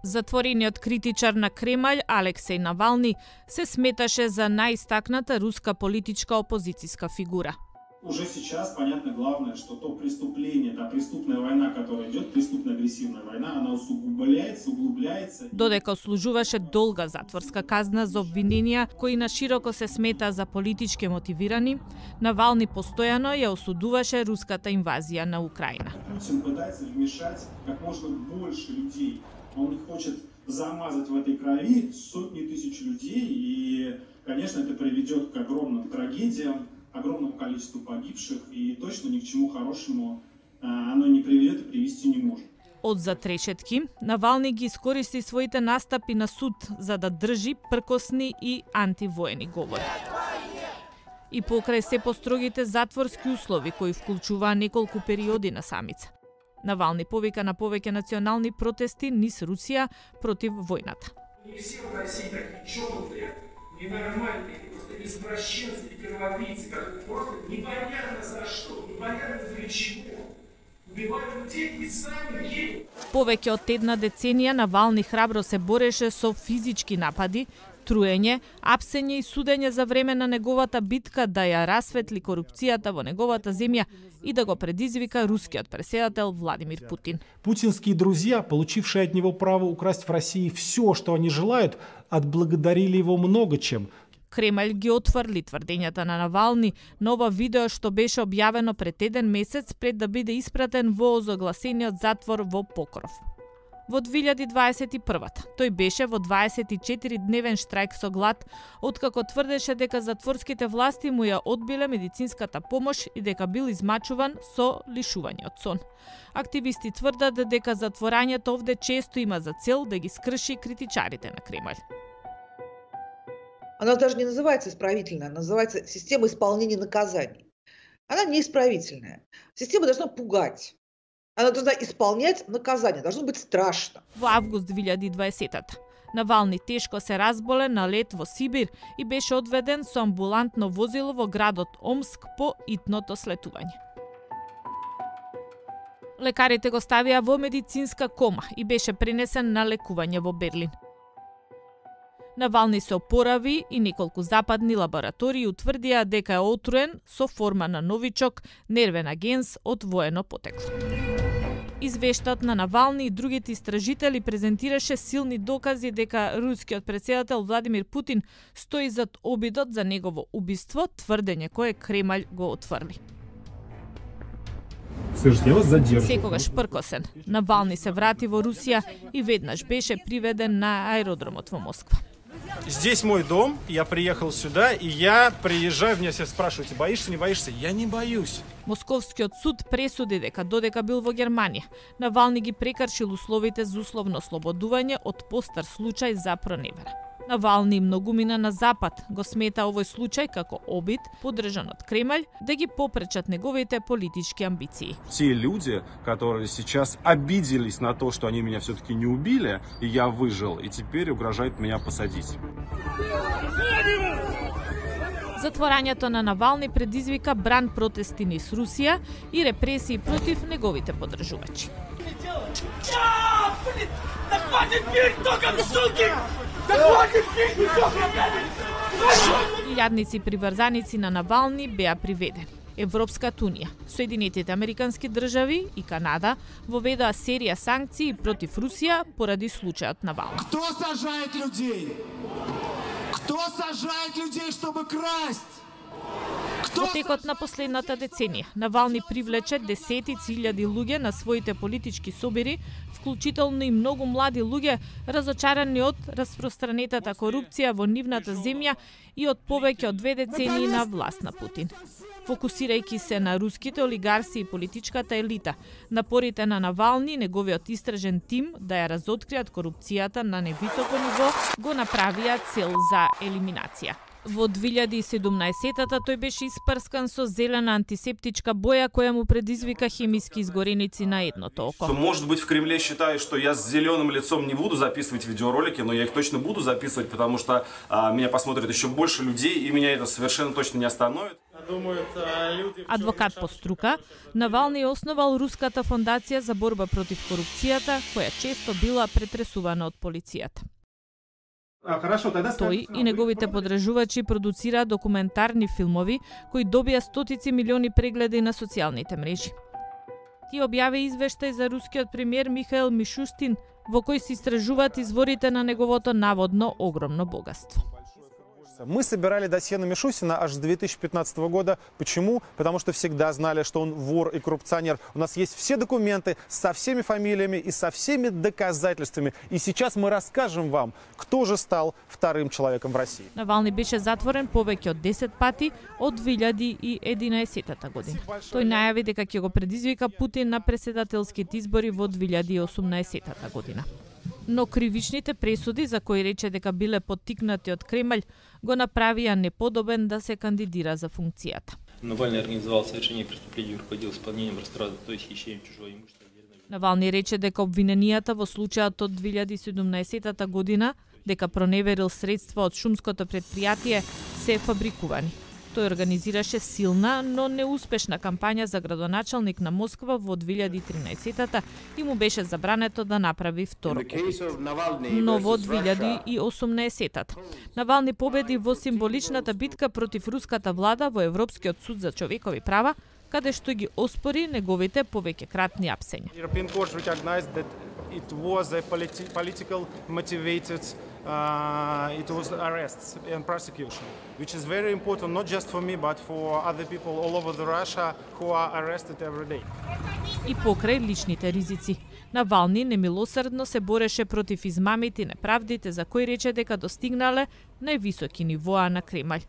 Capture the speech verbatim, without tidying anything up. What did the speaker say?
Затворениот критичар на Кремљ Алексеј Навални се сметаше за најистакната руска политичка опозицијска фигура. Уже сейчас понятно главное, что то преступление, та преступная война, которая идет, преступная агрессивная война, она усугубляется, углубляется. Додека служуваше долга затворска казна за обвиненија кои на широко се смета за политички мотивирани, Навални постојано ја осудуваше руската инвазија на Украина. Путин пытается вмешать как можно больше людей. Он хочет замазать в этой крови сотни тысяч людей, и, конечно, это приведет к огромным трагедиям, огромному количеству погибших, и точно ни к чему хорошему оно не приведет и привести не может. Од затрешетки, Навални ги искористи своите настапи на суд за да држи пркосни и антивоени говори. И покрај се построгите затворски услови кои вклучуваа неколку периоди на самица. Навални повика на повеќе национални протести низ Русија против војната. Не все в России такие чокнутые, ненормальные, просто извращенцы и кровопийцы, которые просто непонятно за что, непонятно для чего. Убивают людей и сами едут. Повеќе од една деценија Навални храбро се бореше со физички напади, труење, апсење и судење за време на неговата битка да ја расветли корупцијата во неговата земја и да го предизвика рускиот преседател Владимир Путин. Путинские друзья, получившие от него право украсть в России все, что они желают, отблагодарили его много чем. Кремљ ги отврли тврдењата на Навални на ова видео што беше објавено пред еден месец пред да биде испратен во озогласениот затвор во Покров. Во две илјади дваесет и прва тој беше во дваесет и четири дневен штрајк со глад, откако тврдеше дека затворските власти му ја одбиле медицинската помош и дека бил измачуван со лишување од сон. Активисти тврдат дека затворањето овде често има за цел да ги скрши критичарите на Кремљ. Она даже не называется исправительная, она называется система исполнения наказаний. Она не исправительная. Система должна пугать. Она должна исполнять наказание, должно быть страшно. Во август две илјади и дваесета Навални тешко се разболе на лет во Сибир и беше одведен со амбулантно возило во градот Омск по итното слетување. Лекарите го ставија во медицинска кома и беше пренесен на лекување во Берлин. Навални се опорави и неколку западни лаборатории утврдија дека е отруен со форма на новичок, нервен агенс од воено потекло. Извештаот на Навални и другите истражители презентираше силни докази дека рускиот председател Владимир Путин стои зад обидот за негово убиство, тврдење кое Кремљ го отврли. Секогаш пркосен, Навални се врати во Русија и веднаш беше приведен на аеродромот во Москва. Здесь мой дом, я приехал сюда, и я приезжаю, меня все спрашивают, боишься, не боишься? Я не боюсь. Московскиот суд пресуди дека додека бил во Германија, Навални ги прекршил условите за условно слободување од постар случај за проневера. Навални многумина на Запад го смета овој случај како обид, поддржан од Кремљ, да ги попречат неговите политички амбиции. Те люди, которые сейчас обиделись на то, что они меня все-таки не убили, и я выжил, и теперь угрожают меня посадить. Затворањето на Навални предизвика бран протести низ Русија и репресии против неговите поддржувачи. Илјадници приврзаници на Навални беа приведени. Европската унија, Соединетите американски држави и Канада воведоа серија санкции против Русија поради случајот Навални. Кто сажает людей? Кто сажает людей, чтобы красть? Во текот на последната деценија, Навални привлече десетици илјади луѓе на своите политички собери, вклучително и многу млади луѓе разочарани од распространетата корупција во нивната земја и од повеќе од две децении на власт на Путин. Фокусирајќи се на руските олигарси и политичката елита, напорите на Навални и неговиот истражен тим да ја разоткријат корупцијата на невисоко ниво го направија цел за елиминација. Во две илјади и седумнаесета тој беше испрскан со зелена антисептичка боја која му предизвика хемиски изгореници на едното око. Может быть, в Кремле считают, что я с зеленым лицом не буду записывать видеоролики, но я их точно буду записывать, потому что а, меня посмотрят еще больше людей, и меня это совершенно точно не остановит. Адвокат по струка, Навални основал Руската фондација за борба против корупцијата, која често била претресувана од полицијата. Тој и неговите подржувачи продуцира документарни филмови кои добија стотици милиони прегледи на социјалните мрежи. Ти објави извештај за рускиот премиер Михаил Мишустин, во кој се истражуваат изворите на неговото наводно огромно богатство. Мы собирали досье на Мишустина аж с две тысячи пятнадцатого года. Почему? Потому что всегда знали, что он вор и коррупционер. У нас есть все документы со всеми фамилиями и со всеми доказательствами. И сейчас мы расскажем вам, кто же стал вторым человеком в России. Навални беше затворен повеќе од десет пати од две илјади и единаесетта година. Тој најави дека ќе го предизвика Путин на претседателските избори во две илјади и осумнаесетта година. Но кривичните пресуди за кои рече дека биле поттикнати од Кремљ го направија неподобен да се кандидира за функцијата. Навални организовал совершение преступлений и руководил исполнением растрата, то есть хищением чужого имущества. Навални рече дека обвиненијата во случајот од две илјади и седумнаесетта година дека проневерил средства од шумското претпријатие се фабрикувани. Тој организираше силна, но неуспешна кампања за градоначалник на Москва во две илјади и тринаесетта и му беше забрането да направи втор опит. Но во две илјади и осумнаесетта Навални победи во символичната битка против руската влада во Европскиот суд за човекови права, каде што ги оспори неговите повеќекратни апсења. It was a politi political motivated, uh, it was arrests and prosecution, which is very important not just for me but for other people all over the Russia who are arrested every day. И покрај личните ризици, Навални немилосрдно се бореше против измамите и неправдите за кои рече дека достигнале највисоки нивоа на Кремљ.